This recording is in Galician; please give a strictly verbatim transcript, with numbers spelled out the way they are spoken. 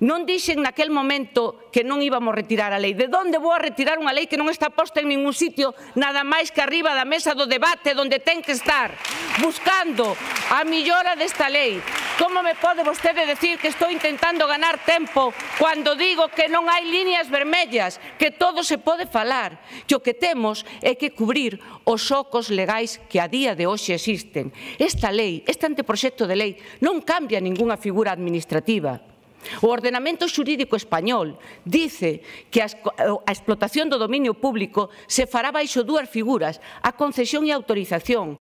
Non dixen naquel momento que non íbamos retirar a lei. De onde vou a retirar unha lei que non está posta en ningún sitio, nada máis que arriba da mesa do debate, onde ten que estar, buscando a millora desta lei? Como me pode vostede decir que estou intentando ganar tempo cando digo que non hai líneas vermellas, que todo se pode falar? E o que temos é que cubrir os ocos legais que a día de hoxe existen. Esta lei, este anteproxecto de lei, non cambia ningunha figura administrativa. O ordenamento xurídico español dice que a explotación do dominio público se fará baixo dúas figuras, a concesión e a autorización.